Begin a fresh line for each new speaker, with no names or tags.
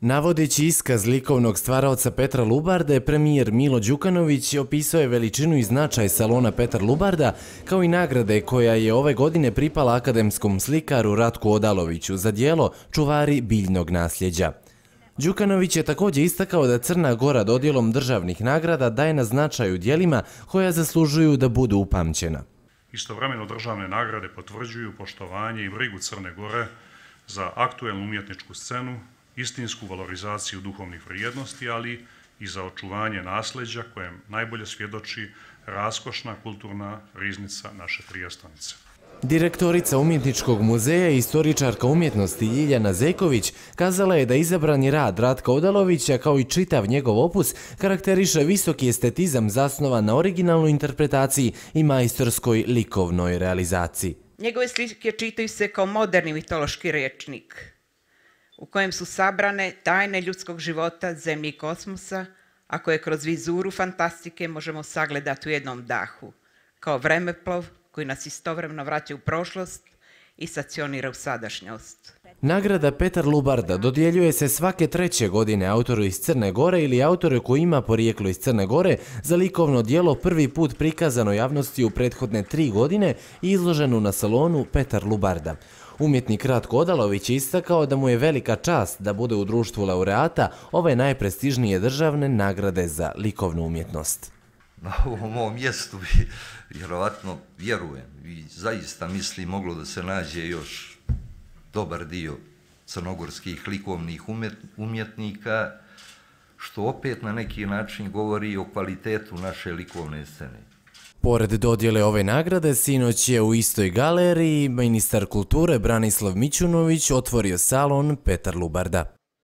Navodeći iskaz likovnog stvaraoca Petra Lubarde, premijer Milo Đukanović opisao je veličinu i značaj salona Petar Lubarda, kao i nagrade koja je ove godine pripala akademskom slikaru Ratku Odaloviću za djelo Čuvari biljnog nasljeđa. Đukanović je također istakao da Crna Gora dodjelom državnih nagrada daje na značaju djelima koja zaslužuju da budu upamćena.
Istovremeno državne nagrade potvrđuju poštovanje i brigu Crne Gore za aktuelnu umjetničku scenu, istinsku valorizaciju duhovnih vrijednosti, ali i za očuvanje nasljeđa kojem najbolje svjedoči raskošna kulturna riznica naše prijestolnice.
Direktorica Umjetničkog muzeja i istoričarka umjetnosti Ljiljana Zeković kazala je da izabrani rad Ratka Odalovića, kao i čitav njegov opus, karakteriše visoki estetizam zasnovan na originalnoj interpretaciji i majstorskoj likovnoj realizaciji.
Njegove slike čitaju se kao moderni mitološki rječnik, u kojem su sabrane tajne ljudskog života, zemlje i kosmosa, a koje kroz vizuru fantastike možemo sagledati u jednom dahu, kao vremeplov koji nas istovremeno vraća u prošlost i stacionira u sadašnjost.
Nagrada Petar Lubarda dodjeljuje se svake 3. godine autoru iz Crne Gore ili autoru koji ima porijeklo iz Crne Gore za likovno djelo prvi put prikazano javnosti u prethodne 3 godine i izloženo na salonu Petar Lubarda. Umjetnik Ratko Odalović je istakao da mu je velika čast da bude u društvu laureata ove najprestižnije državne nagrade za likovnu umjetnost.
Na ovom mom mjestu bi, vjerovatno, vjerujem i zaista mislim moglo da se nađe još dobar dio crnogorskih likovnih umjetnika, što opet na neki način govori o kvalitetu naše likovne scene.
Pored dodjele ove nagrade, sinoć je u istoj galeriji ministar kulture Branislav Mićunović otvorio salon Petar Lubarda.